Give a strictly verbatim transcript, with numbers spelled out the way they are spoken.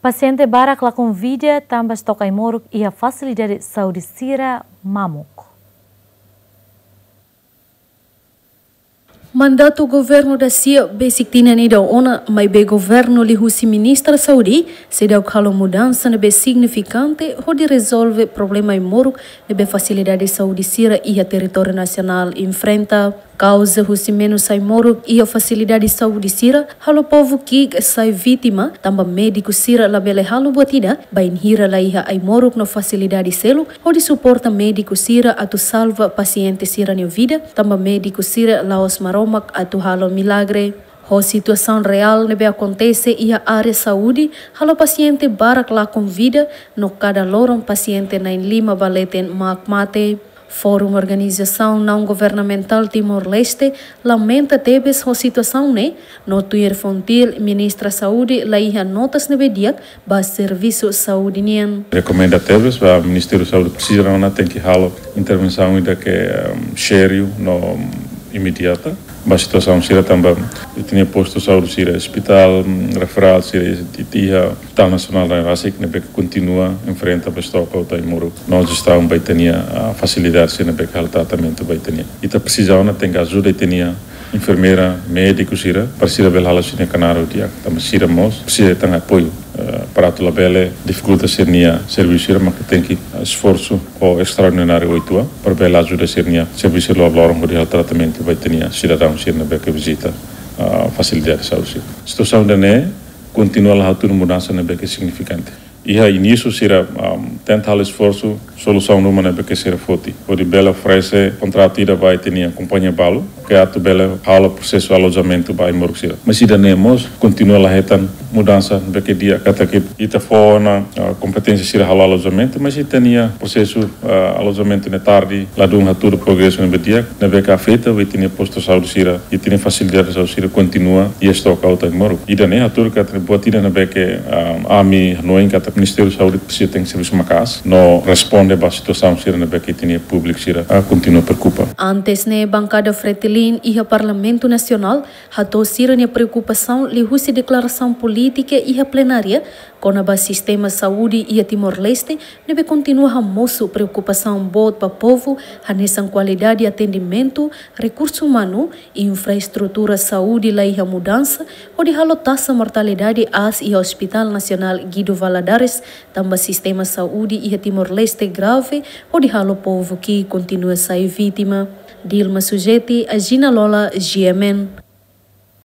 Pasiente barak lakon vida tanba estoka ai-moruk iha fasilidade saúde sira mamuk. Mandatu governu da sia besik tinan ida ona, maibé governu liuhusi Ministra Saúde seidauk halo mudansa ne'ebé signifikante hodi rezolve problema ai-moruk ne'ebé fasilidade saúde sira iha territóriu nasionál enfrenta. Kauza husi menus ai-moruk iha fasilidade saúde sira halo povu ki'ik sai vítima, tanba médiku sira labele halo buat ida bainhira laiha ai-moruk no fasilidade seluk hodi suporta médiku sira atu salva pasiente sira-nia vida, tanba médiku sira la'ós Maromak atu halo milagre. Ho situasaun reál ne'ebé akontese iha área saúde, halo pasiente barak lakon vida, no kada loron pasiente na'in-lima ba leten mak mate. Fórum Organizasaun Naun Governamentál Timor-Leste lamenta tebes ho situasaun ne'e, no tuir Fontil, Ministra Saúde laiha notas ne'ebé di'ak ba servisu saúde nian. Rekomenda tebes ba Ministériu Saúde, presiza ona tenke halo intervensaun ida ke, ehm, sériu no, ehm, imediata ba situasaun sira tanba ita-nia postu saúde sira, ospitál, mm, referál sira, ita iha Ospitál Nasionál Rai Rasik ne'ebé ke kontinua enfrenta ba estoka hotu ai-moruk. No jestaun ba ita-nia, ah, fasilidade sira ne'ebé ke halo tratamentu ba ita-nia. Ita presiza ona tenke ajuda ita-nia enfermeira, médiku sira, para sira bele halo sira-nia knaar ho di'ak, tanba sira mós presiza hetan apoiu, eh, para atu labele difikulta sira-nia servisu sira, maibé tenke, eh, esforsu ho estraordináriu uitoan, para bele ajuda sira-nia servisu loroloron hodi halo tratamentu ba ita-nia sidadaun sira ne'ebé ke vizita, ah, fasilidade saúde sira. Situasaun ida-ne'e kontinua la hatudu mudansa ne'ebé ke signifikante. Iha inísiu sira, um, tenta halo esforsu, solusaun ruma ne'ebé ke sira foti. Hodi bele oferese kontratu ida ba ita-nia kompañia balu, ke atu bele halo prosesu alojamentu ba ai-moruk sira. Mas ida-ne'e mós kontinua la hetan mudansa ne'ebé ke di'ak katak ita fó ona, ah, kompeténsia sira halo alojamentu, mas ita-nia prosesu, ah, alojamentu ne'e tarde, ladún hatudu progresu ne'ebé di'ak, ne'ebé ke afeta ba ita-nia postu saúde sira, ita-nia fasilidade saúde sira kontinua iha estoka hotu ai-moruk. Ida-ne'e hatudu katak buat ida ne'ebé ke, ah, ami hanoin katak Ministériu Saúde presiza tenke servisu maka'as no responde ba situasaun sira ne'ebé ke ita-nia públiku sira, ah, kontinua preokupa. Antes ne'e, bankada Fretilin iha Parlamentu Nasionál hato'o sira-nia preokupasaun liuhusi deklarasaun polítika iha plenária kona-ba sistema saúde iha Timor-Leste, ne'ebé kontinua hamosu preokupasaun boot ba povu, hanesan kualidade atendimentu, rekursu umanu, infraestrutura saúde laiha mudansa, hodi halo taxa mortalidade aas iha Ospitál Nasionál Guido Valadares, tanba sistema saúde iha Timor-Leste grave, hodi halo povu ki'ik kontinua sai vítima. Dilma Sujeti, Agina Lola, G M N.